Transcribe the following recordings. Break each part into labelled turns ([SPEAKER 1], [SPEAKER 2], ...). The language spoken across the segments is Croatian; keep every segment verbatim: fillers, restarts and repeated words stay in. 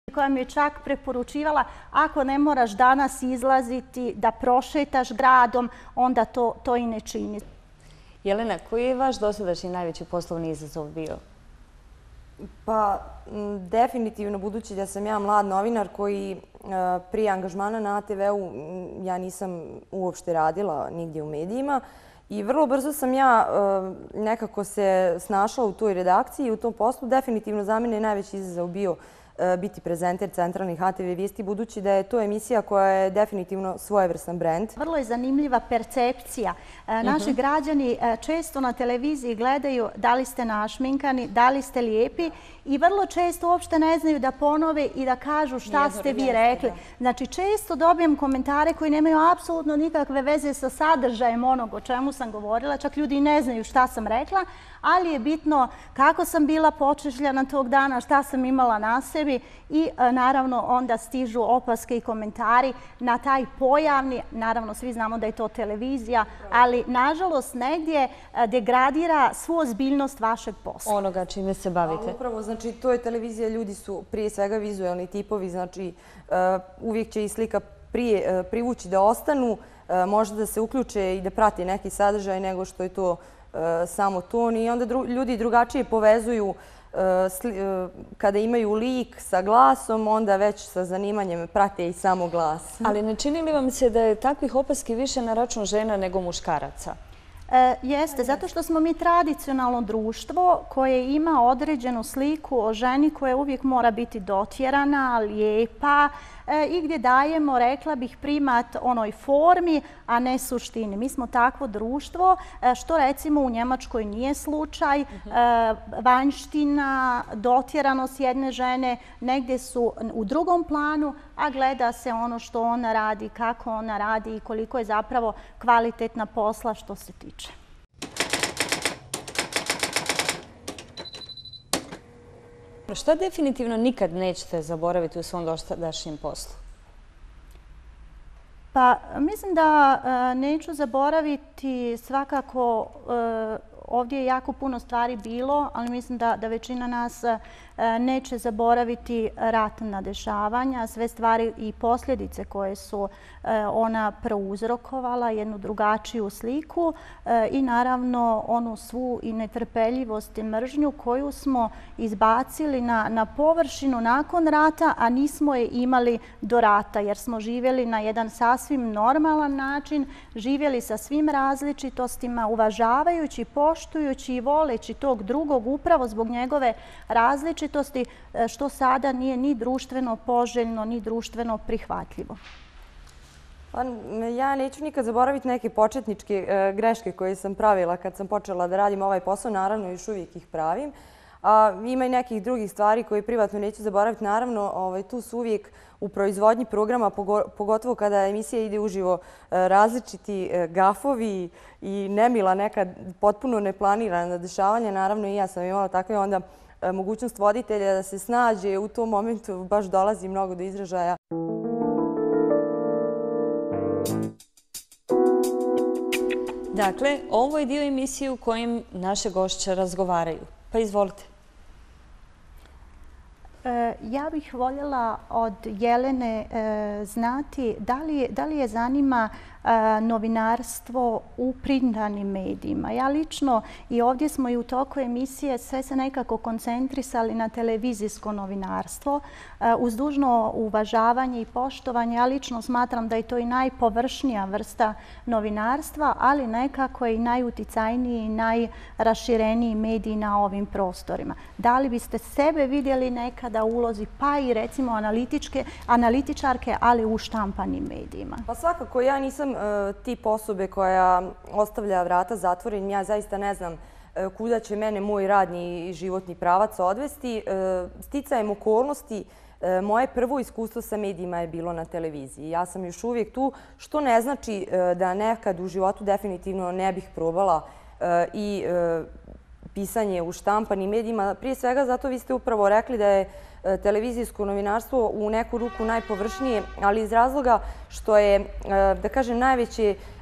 [SPEAKER 1] koja mi je čak preporučivala ako ne moraš danas izlaziti da prošetaš gradom, onda to, to i ne čini.
[SPEAKER 2] Jelena, koji je vaš dosadašnji najveći poslovni izazov bio?
[SPEAKER 3] Pa, definitivno, budući da sam ja mlad novinar koji prije angažmana na A T V-u ja nisam uopšte radila nigdje u medijima i vrlo brzo sam ja nekako se snašla u toj redakciji i u tom poslu. Definitivno za mene je najveći izazov bio biti prezenter centralnih A T V vijesti, budući da je to emisija koja je definitivno svojevrstan brend.
[SPEAKER 1] Vrlo je zanimljiva percepcija. Naši građani često na televiziji gledaju da li ste našminkani, da li ste lijepi i vrlo često uopšte ne znaju da ponove i da kažu šta ste vi rekli. Znači, često dobijem komentare koji nemaju apsolutno nikakve veze sa sadržajem onog o čemu sam govorila. Čak ljudi i ne znaju šta sam rekla, ali je bitno kako sam bila počešljana tog dana, šta sam imala na sebi i naravno onda stižu opaske i komentari na taj pojavni, naravno svi znamo da je to televizija, ali nažalost negdje degradira svu ozbiljnost vašeg posla.
[SPEAKER 2] Onoga čime se bavite.
[SPEAKER 3] Upravo, znači to je televizija, ljudi su prije svega vizualni tipovi, znači uvijek će i slika prije privući da ostanu, možda da se uključe i da prati neki sadržaj nego što je to samo ton i onda ljudi drugačije povezuju kada imaju lik sa glasom, onda već sa zanimanjem prate i samo glas.
[SPEAKER 2] Ali ne čini li vam se da je takvih opaski više na račun žena nego muškaraca?
[SPEAKER 1] Jeste, zato što smo mi tradicionalno društvo koje ima određenu sliku o ženi koja uvijek mora biti dotjerana, lijepa i gdje dajemo, rekla bih, primat onoj formi, a ne suštini. Mi smo takvo društvo, što recimo u Njemačkoj nije slučaj. Vanjština, dotjeranost jedne žene negdje su u drugom planu, a gleda se ono što ona radi, kako ona radi i koliko je zapravo kvalitetna posla što se tiče.
[SPEAKER 2] Šta definitivno nikad nećete zaboraviti u svom dosadašnjem poslu?
[SPEAKER 1] Pa mislim da neću zaboraviti svakako, ovdje je jako puno stvari bilo, ali mislim da, da većina nas neće zaboraviti ratna dešavanja, sve stvari i posljedice koje su ona prouzrokovala, jednu drugačiju sliku i naravno onu svu i netrpeljivost i mržnju koju smo izbacili na, na površinu nakon rata, a nismo je imali do rata jer smo živjeli na jedan sasvim normalan način, živjeli sa svim različitostima, uvažavajući, poštujući i voleći tog drugog upravo zbog njegove različitosti, što sada nije ni društveno poželjno, ni društveno prihvatljivo.
[SPEAKER 3] Pa, ja neću nikad zaboraviti neke početničke greške koje sam pravila kad sam počela da radim ovaj posao. Naravno, još uvijek ih pravim. A, ima i nekih drugih stvari koje privatno neću zaboraviti. Naravno, ovaj, tu su uvijek u proizvodnji programa, pogotovo kada emisija ide uživo, različiti gafovi i nemila neka potpuno neplanirana dešavanja. Naravno, i ja sam imala takve onda mogućnost voditelja da se snađe. U tom momentu baš dolazi mnogo do izražaja.
[SPEAKER 2] Dakle, ovo je dio emisije u kojem naše gošće razgovaraju. Pa izvolite.
[SPEAKER 1] Ja bih voljela od Jelene znati da li, da li je zanima novinarstvo u printanim medijima. Ja lično, i ovdje smo i u toku emisije sve se nekako koncentrisali na televizijsko novinarstvo. Uz dužno uvažavanje i poštovanje, ja lično smatram da je to i najpovršnija vrsta novinarstva, ali nekako je i najuticajniji i najrašireniji mediji na ovim prostorima. Da li biste sebe vidjeli nekada u ulozi, pa i recimo analitičke, analitičarke, ali u štampanim medijima?
[SPEAKER 3] Pa svakako, ja nisam tip osobe koja ostavlja vrata zatvorenim. Ja zaista ne znam kuda će mene moj radni i životni pravac odvesti. Sticajem okolnosti, moje prvo iskustvo sa medijima je bilo na televiziji. Ja sam još uvijek tu, što ne znači da nekad u životu definitivno ne bih probala i pisanje u štampanim medijima. Prije svega zato vi ste upravo rekli da je televizijsko novinarstvo u neku ruku najpovršnije, ali iz razloga što je, da kažem,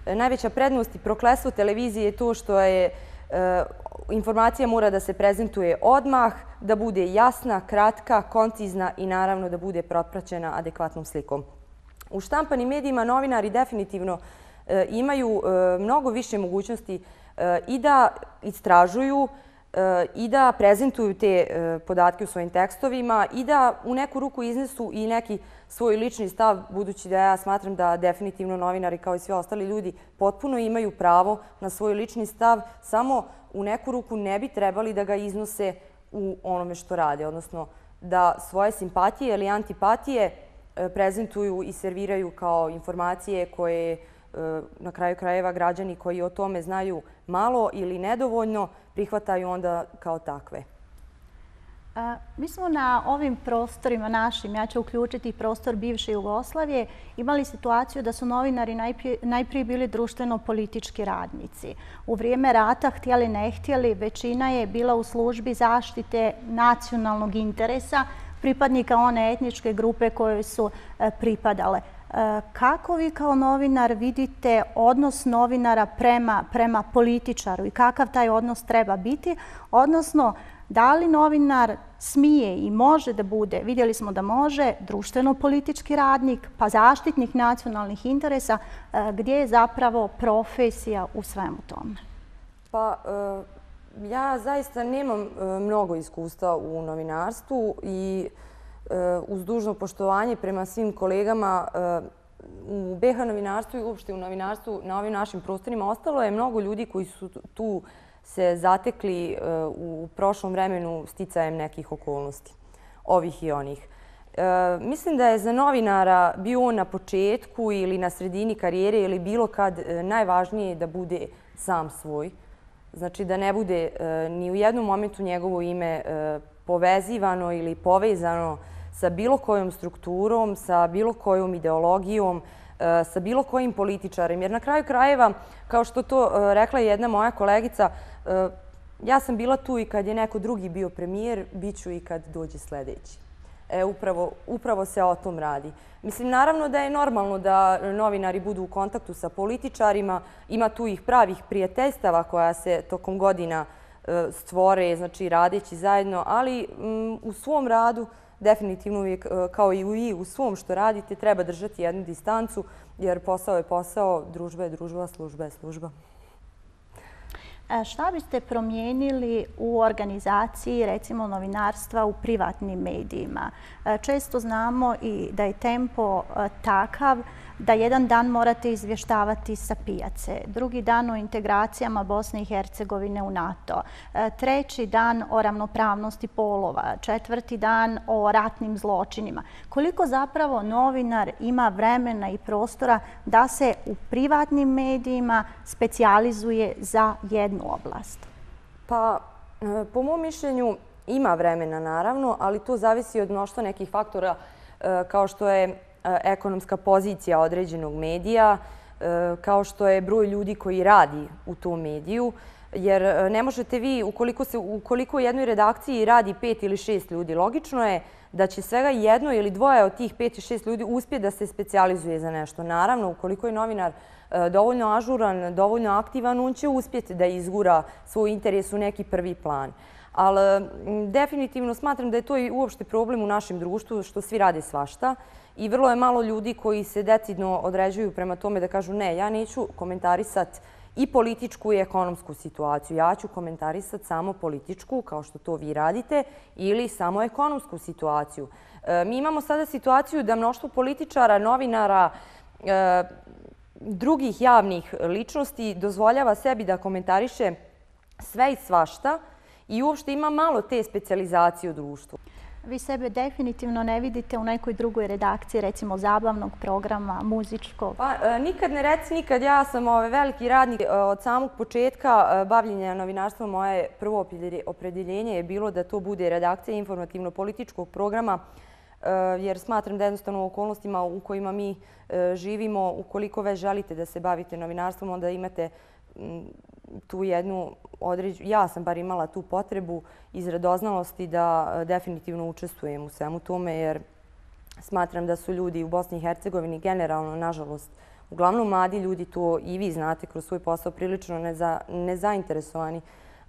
[SPEAKER 3] najveća prednost i prokletstvo televizije je to što je Informacija mora da se prezentuje odmah, da bude jasna, kratka, koncizna i naravno da bude propraćena adekvatnom slikom. U štampanim medijima novinari definitivno imaju mnogo više mogućnosti i da istražuju i da prezentuju te podatke u svojim tekstovima i da u neku ruku iznesu i neki svoj lični stav, budući da ja smatram da definitivno novinari kao i svi ostali ljudi potpuno imaju pravo na svoj lični stav, samo u neku ruku ne bi trebali da ga iznose u onome što rade, odnosno da svoje simpatije ili antipatije prezentuju i serviraju kao informacije koje na kraju krajeva građani koji o tome znaju malo ili nedovoljno prihvataju onda kao takve.
[SPEAKER 1] Mi smo na ovim prostorima našim, ja ću uključiti prostor bivše Jugoslavije, imali situaciju da su novinari najprije bili društveno-politički radnici. U vrijeme rata, htjeli ne htjeli, većina je bila u službi zaštite nacionalnog interesa pripadnika one etničke grupe kojoj su pripadale. Kako vi kao novinar vidite odnos novinara prema, prema političaru i kakav taj odnos treba biti? Odnosno, da li novinar smije i može da bude, vidjeli smo da može, društveno-politički radnik, pa zaštitnik nacionalnih interesa, gdje je zapravo profesija u svemu tome?
[SPEAKER 3] Pa, ja zaista nemam mnogo iskustva u novinarstvu i uz dužno poštovanje prema svim kolegama u be ha novinarstvu i uopšte u novinarstvu na ovim našim prostorima ostalo je mnogo ljudi koji su tu se zatekli u prošlom vremenu sticajem nekih okolnosti, ovih i onih. Mislim da je za novinara bio on na početku ili na sredini karijere ili bilo kad najvažnije da bude sam svoj. Znači da ne bude ni u jednom momentu njegovo ime povezivano ili povezano sa bilo kojom strukturom, sa bilo kojom ideologijom, sa bilo kojim političarem. Jer na kraju krajeva, kao što to rekla jedna moja kolegica, ja sam bila tu i kad je neko drugi bio premijer, bit ću i kad dođe sljedeći. E, upravo, upravo se o tom radi. Mislim, naravno da je normalno da novinari budu u kontaktu sa političarima, ima tu ih pravih prijateljstava koja se tokom godina stvore, znači radeći zajedno, ali m, u svom radu definitivno uvijek, kao i vi u svom što radite, treba držati jednu distancu, jer posao je posao, družba je družba, služba je služba.
[SPEAKER 1] Šta biste promijenili u organizaciji, recimo, novinarstva u privatnim medijima? Često znamo i da je tempo takav da jedan dan morate izvještavati sa pijace, drugi dan o integracijama Bosne i Hercegovine u NATO, treći dan o ravnopravnosti polova, četvrti dan o ratnim zločinima. Koliko zapravo novinar ima vremena i prostora da se u privatnim medijima specijalizuje za jednu oblast?
[SPEAKER 3] Pa, po mom mišljenju ima vremena naravno, ali to zavisi od mnoštva nekih faktora kao što je ekonomska pozicija određenog medija, kao što je broj ljudi koji radi u tom mediju. Jer ne možete vi, ukoliko, se, ukoliko u jednoj redakciji radi pet ili šest ljudi, logično je da će svega jedno ili dvoje od tih pet i šest ljudi uspjeti da se specijalizuje za nešto. Naravno, ukoliko je novinar dovoljno ažuran, dovoljno aktivan, on će uspjeti da izgura svoj interes u neki prvi plan. Ali definitivno smatram da je to i uopšte problem u našem društvu, što svi rade svašta. I vrlo je malo ljudi koji se decidno određuju prema tome da kažu ne, ja neću komentarisati i političku i ekonomsku situaciju. Ja ću komentarisati samo političku, kao što to vi radite, ili samo ekonomsku situaciju. Mi imamo sada situaciju da mnoštvo političara, novinara, drugih javnih ličnosti dozvoljava sebi da komentariše sve i svašta i uopšte ima malo te specijalizacije u društvu.
[SPEAKER 1] Vi sebe definitivno ne vidite u nekoj drugoj redakciji, recimo zabavnog programa, muzičkog?
[SPEAKER 3] Pa, nikad ne reci nikad. Ja sam ovaj, veliki radnik. Od samog početka bavljenja novinarstvom moje prvo opredjeljenje je bilo da to bude redakcija informativno-političkog programa, jer smatram da jednostavno u okolnostima u kojima mi živimo, ukoliko već želite da se bavite novinarstvom, onda imate tu jednu određu, ja sam bar imala tu potrebu iz radoznalosti da definitivno učestvujem u svemu tome, jer smatram da su ljudi u Bosni i Hercegovini generalno, nažalost, uglavnom mladi ljudi, to i vi znate kroz svoj posao, prilično nezainteresovani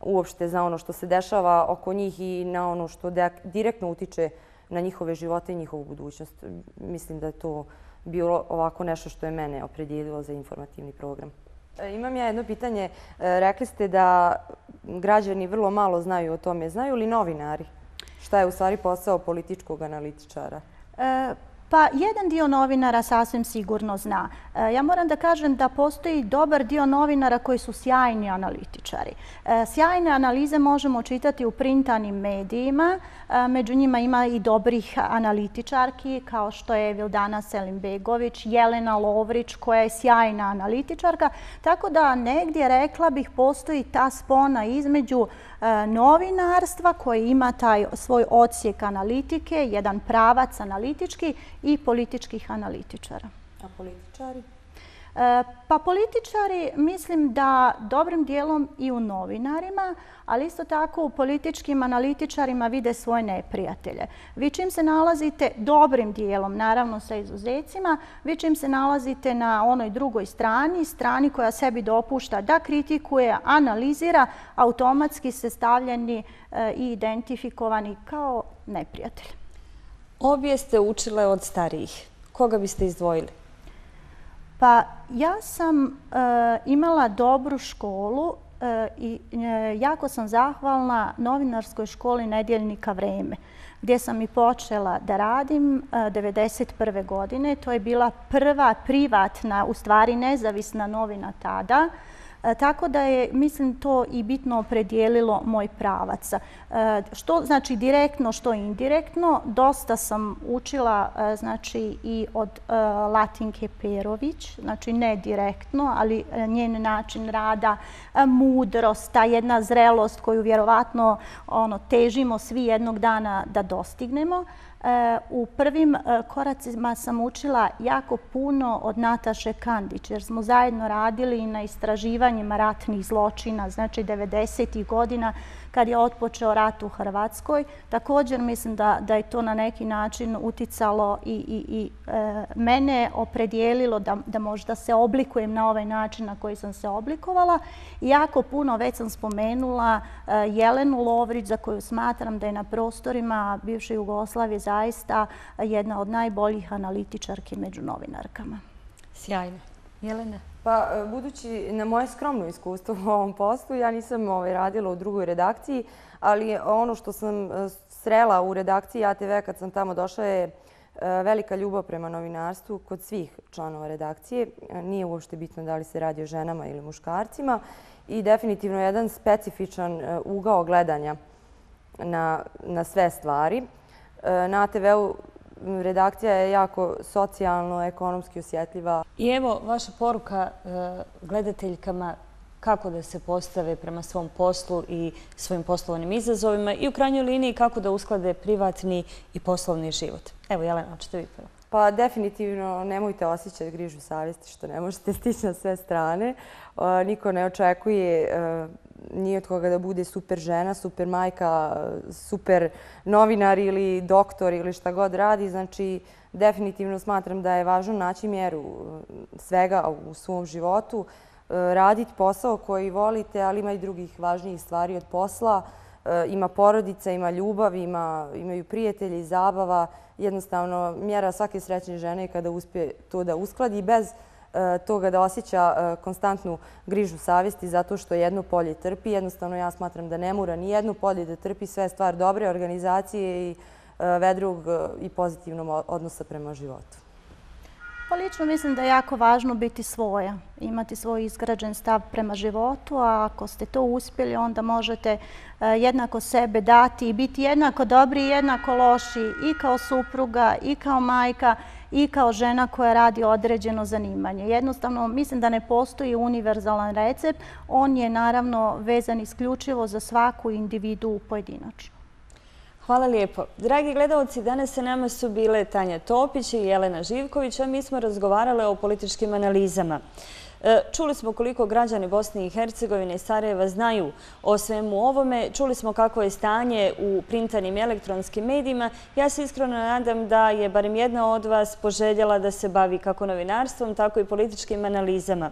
[SPEAKER 3] uopšte za ono što se dešava oko njih i na ono što direktno utiče na njihove živote i njihovu budućnost. Mislim da je to bilo ovako nešto što je mene opredijelilo za informativni program. Imam ja jedno pitanje. Rekli ste da građani vrlo malo znaju o tome. Znaju li novinari šta je u stvari posao političkog analitičara?
[SPEAKER 1] Pa jedan dio novinara sasvim sigurno zna. Ja moram da kažem da postoji dobar dio novinara koji su sjajni analitičari. Sjajne analize možemo čitati u printanim medijima. Među njima ima i dobrih analitičarki kao što je Vildana Selimbegović, Jelena Lovrić koja je sjajna analitičarka. Tako da negdje, rekla bih, postoji ta spona između novinarstva koji ima taj svoj odsjek analitike, jedan pravac analitički i političkih analitičara.
[SPEAKER 3] A političari?
[SPEAKER 1] Pa političari mislim da dobrim dijelom i u novinarima, ali isto tako u političkim analitičarima vide svoje neprijatelje. Vi čim se nalazite dobrim dijelom, naravno sa izuzecima, vi čim se nalazite na onoj drugoj strani, strani koja sebi dopušta da kritikuje, analizira, automatski ste stavljeni i identifikovani kao neprijatelj.
[SPEAKER 2] Obje ste učile od starijih. Koga biste izdvojili?
[SPEAKER 1] Pa ja sam imala dobru školu i jako sam zahvalna novinarskoj školi Nedjeljnika Vreme, gdje sam i počela da radim devedeset prve godine. To je bila prva privatna, u stvari nezavisna novina tada. Tako da je, mislim, to i bitno opredijelilo moj pravac. Što znači direktno, što indirektno. Dosta sam učila znači i od Latinke Perović, znači ne direktno, ali njen način rada, mudrost, ta jedna zrelost koju vjerovatno ono, težimo svi jednog dana da dostignemo. U prvim koracima sam učila jako puno od Nataše Kandić, jer smo zajedno radili na istraživanjima ratnih zločina, znači devedesetih godina kad je otpočeo rat u Hrvatskoj. Također mislim da, da je to na neki način uticalo i, i, i e, mene opredijelilo da, da možda se oblikujem na ovaj način na koji sam se oblikovala. I jako puno, već sam spomenula e, Jelenu Lovrić, za koju smatram da je na prostorima bivše Jugoslavije zaista jedna od najboljih analitičarki među novinarkama.
[SPEAKER 2] Sjajno. Jelena?
[SPEAKER 3] Pa, budući na moje skromno iskustvo u ovom poslu, ja nisam ovaj, radila u drugoj redakciji, ali ono što sam srela u redakciji A T V kad sam tamo došla je velika ljubav prema novinarstvu kod svih članova redakcije. Nije uopšte bitno da li se radi o ženama ili muškarcima i definitivno jedan specifičan ugao gledanja na, na sve stvari. Na A T V-u redakcija je jako socijalno, ekonomski osjetljiva.
[SPEAKER 2] I evo vaša poruka gledateljkama kako da se postave prema svom poslu i svojim poslovnim izazovima i u krajnjoj liniji kako da usklade privatni i poslovni život. Evo, Jelena, hoćete vi prvo?
[SPEAKER 3] Pa definitivno nemojte osjećati grižu savjesti što ne možete stići na sve strane. Niko ne očekuje ni od koga da bude super žena, super majka, super novinar ili doktor ili šta god radi. Znači, definitivno smatram da je važno naći mjeru svega u svom životu, raditi posao koji volite, ali ima i drugih važnijih stvari od posla. Ima porodica, ima ljubav, ima, imaju prijatelji, zabava. Jednostavno, mjera svake srećne žene je kada uspije to da uskladi bez toga da osjeća konstantnu grižu savjesti zato što jedno polje trpi. Jednostavno, ja smatram da ne mora ni jedno polje da trpi, sve stvar dobre organizacije i vedrog i pozitivnog odnosa prema životu.
[SPEAKER 1] Pa lično mislim da je jako važno biti svoja, imati svoj izgrađen stav prema životu, a ako ste to uspjeli, onda možete jednako sebe dati i biti jednako dobri i jednako loši i kao supruga, i kao majka, i kao žena koja radi određeno zanimanje. Jednostavno, mislim da ne postoji univerzalan recept. On je naravno vezan isključivo za svaku individu pojedinačno.
[SPEAKER 2] Hvala lijepo. Dragi gledalci, danas sa nama su bile Tanja Topić i Jelena Živković, a mi smo razgovarale o političkim analizama. Čuli smo koliko građani Bosne i Hercegovine i Sarajeva znaju o svemu ovome. Čuli smo kako je stanje u printanim i elektronskim medijima. Ja se iskreno nadam da je barem jedna od vas poželjela da se bavi kako novinarstvom, tako i političkim analizama.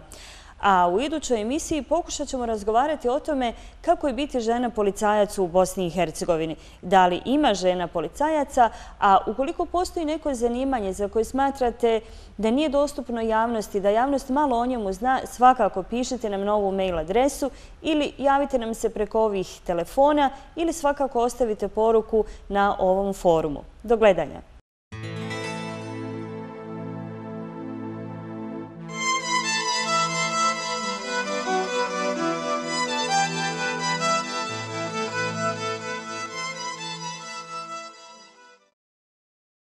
[SPEAKER 2] A u idućoj emisiji pokušat ćemo razgovarati o tome kako je biti žena policajac u Bosni i Hercegovini. Da li ima žena policajaca, a ukoliko postoji neko zanimanje za koje smatrate da nije dostupno javnosti, da javnost malo o njemu zna, svakako pišite nam na ovu mail adresu ili javite nam se preko ovih telefona ili svakako ostavite poruku na ovom forumu. Do gledanja.